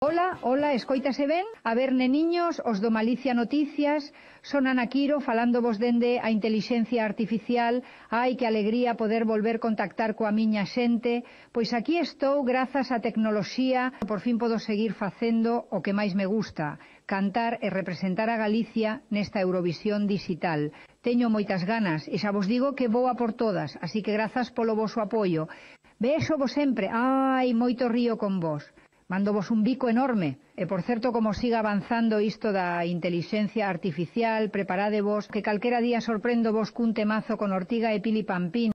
Hola, escoítase ben? A ver, neniños, os do Malicia Noticias, son Ana Quiro, falándovos dende a intelixencia artificial. Ai, que alegría poder volver contactar coa miña xente. Pois aquí estou, grazas á tecnoloxía, por fin podo seguir facendo o que máis me gusta, cantar e representar a Galicia nesta Eurovisión digital. Teño moitas ganas e xa vos digo que vou a por todas, así que grazas polo voso apoio. Vexo vos sempre, ai, moito río con vos. Mándovos un bico enorme. E, por certo, como siga avanzando isto da intelixencia artificial, preparádevos, que calquera día sorprendo vos cun temazo con Ortiga e Pili Pampín.